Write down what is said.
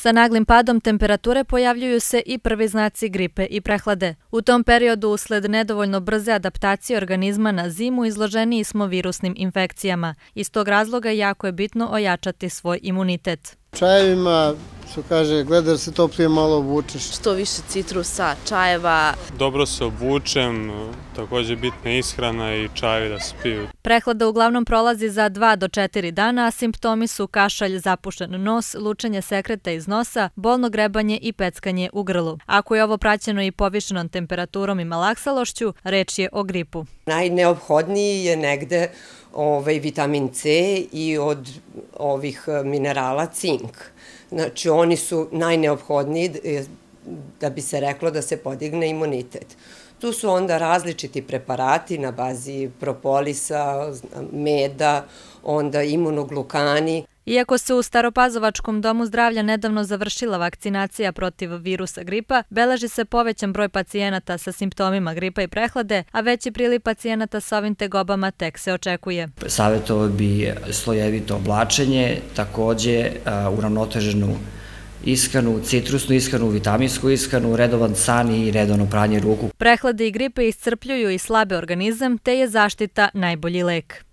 Sa naglim padom temperature pojavljuju se i prvi znaci gripe i prehlade. U tom periodu, usled nedovoljno brze adaptacije organizma na zimu, izloženiji smo virusnim infekcijama. Iz tog razloga jako je bitno ojačati svoj imunitet. Čajevima, što kaže, gleda da se toplije malo obučeš. Što više citrusa, čajeva. Dobro se obučem, također bitna je ishrana i čajevi da se piju. Prehlada uglavnom prolazi za 2 do 4 dana, a simptomi su kašalj, zapušen nos, lučenje sekreta iz nosa, bolno grebanje i peckanje u grlu. Ako je ovo praćeno i povišenom temperaturom i malaksalošću, reč je o gripu. Najneophodniji je negde vitamin C i od ovih minerala cink. Znači, oni su najneophodniji da bi se reklo da se podigne imunitet. Tu su onda različiti preparati na bazi propolisa, meda, onda imunoglukani. Iako se u Staropazovačkom domu zdravlja nedavno završila vakcinacija protiv virusa gripa, beleži se povećan broj pacijenata sa simptomima gripa i prehlade, a veći priliv pacijenata sa ovim tegobama tek se očekuje. Savjetovao bi slojevito oblačenje, također uravnoteženu ishranu, citrusnu ishranu, vitaminsku ishranu, redovan san i redovno pranje ruku. Prehlade i gripe iscrpljuju i slabe organizam, te je zaštita najbolji lek.